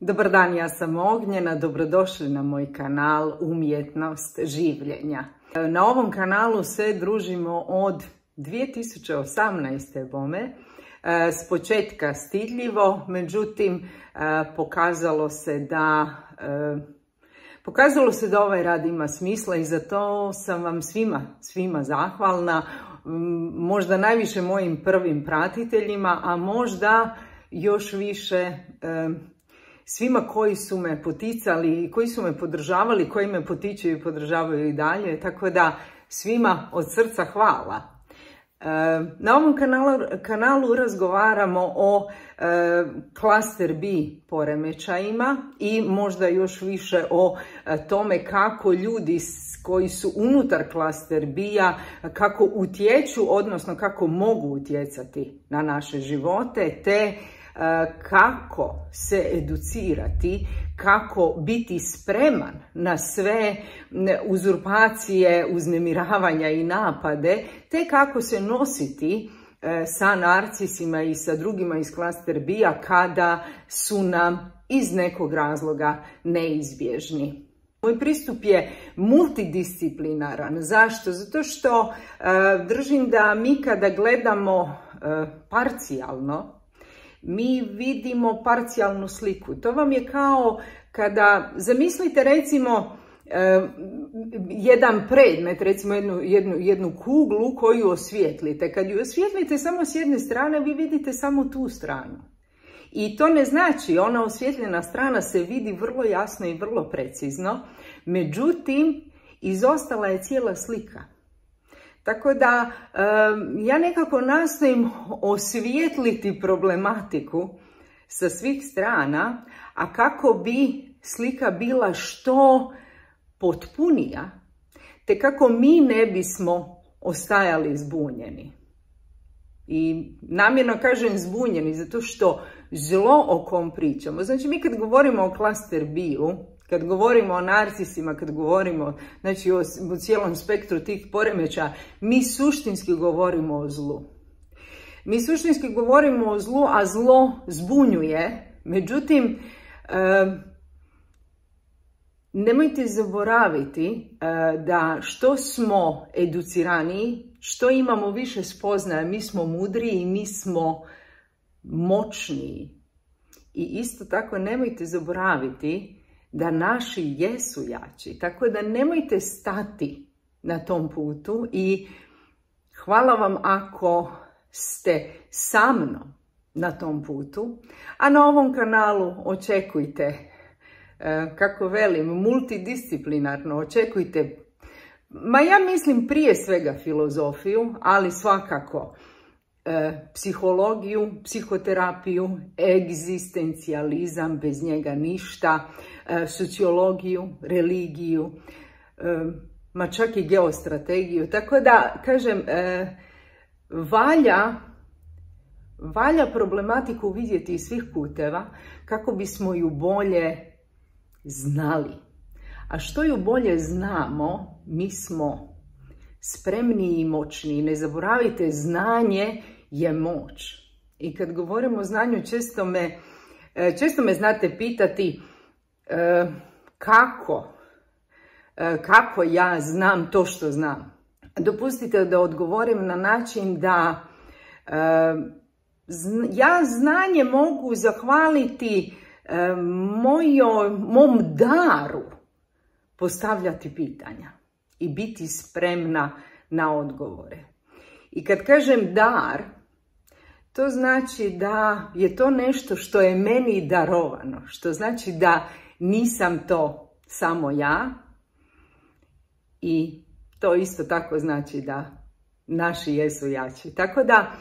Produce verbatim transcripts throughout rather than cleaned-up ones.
Dobar dan, ja sam Ognjena, dobrodošli na moj kanal Umjetnost življenja. Na ovom kanalu se družimo od dvije tisuće osamnaeste. bome, s početka stidljivo, međutim pokazalo se da pokazalo se da ovaj rad ima smisla i za to sam vam svima, svima zahvalna, možda najviše mojim prvim pratiteljima, a možda još više svima koji su me poticali, koji su me podržavali, koji me potiču i podržavaju i dalje, tako da svima od srca hvala. Na ovom kanalu, kanalu razgovaramo o e, klaster B poremećajima i možda još više o e, tome kako ljudi koji su unutar klaster B-a, kako utječu, odnosno kako mogu utjecati na naše živote, te kako se educirati, kako biti spreman na sve uzurpacije, uznemiravanja i napade, te kako se nositi sa narcisima i sa drugima iz klaster B-a kada su nam iz nekog razloga neizbježni. Moj pristup je multidisciplinaran. Zašto? Zato što uh, držim da mi kada gledamo uh, parcijalno, mi vidimo parcijalnu sliku. To vam je kao kada zamislite recimo eh, jedan predmet, recimo jednu, jednu, jednu kuglu koju osvijetlite. Kad ju osvijetlite samo s jedne strane, vi vidite samo tu stranu. I to ne znači, ona osvjetljena strana se vidi vrlo jasno i vrlo precizno, međutim, izostala je cijela slika. Tako da ja nekako nastojim osvijetliti problematiku sa svih strana, a kako bi slika bila što potpunija, te kako mi ne bismo ostajali zbunjeni. I namjerno kažem zbunjeni, zato što zlo o kom pričamo. Znači mi kad govorimo o klaster B-u, kad govorimo o narcisima, kad govorimo znači, o, o cijelom spektru tih poremeća, mi suštinski govorimo o zlu. Mi suštinski govorimo o zlu, a zlo zbunjuje. Međutim, e, nemojte zaboraviti e, da što smo educiraniji, što imamo više spoznaja, mi smo mudriji, mi smo moćniji. I isto tako nemojte zaboraviti da naši jesu jači, tako da nemojte stati na tom putu i hvala vam ako ste sa mnom na tom putu, a na ovom kanalu očekujte, kako velim, multidisciplinarno, očekujte, ma ja mislim prije svega filozofiju, ali svakako psihologiju, psihoterapiju, egzistencijalizam, bez njega ništa, sociologiju, religiju, ma čak i geostrategiju. Tako da, kažem, valja, valja problematiku vidjeti iz svih puteva kako bismo ju bolje znali. A što ju bolje znamo, mi smo spremniji i moćniji. Ne zaboravite, znanje je moć. I kad govorimo o znanju, često me, često me znate pitati kako, kako ja znam to što znam. Dopustite da odgovorim na način da ja znanje mogu zahvaliti mojoj, mom daru postavljati pitanja i biti spremna na odgovore. I kad kažem dar, to znači da je to nešto što je meni darovano, što znači da nisam to samo ja i to isto tako znači da naši jesu jači. Tako da,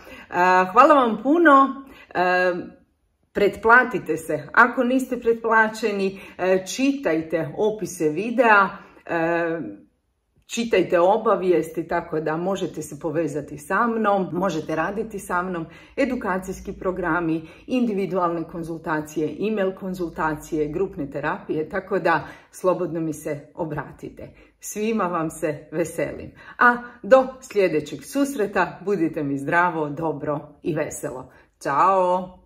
hvala vam puno, pretplatite se. Ako niste pretplaćeni, čitajte opise videa, čitajte obavijesti, tako da možete se povezati sa mnom, možete raditi sa mnom, edukacijski programi, individualne konzultacije, e-mail konzultacije, grupne terapije, tako da slobodno mi se obratite. Svima vam se veselim. A do sljedećeg susreta budite mi zdravo, dobro i veselo. Ćao!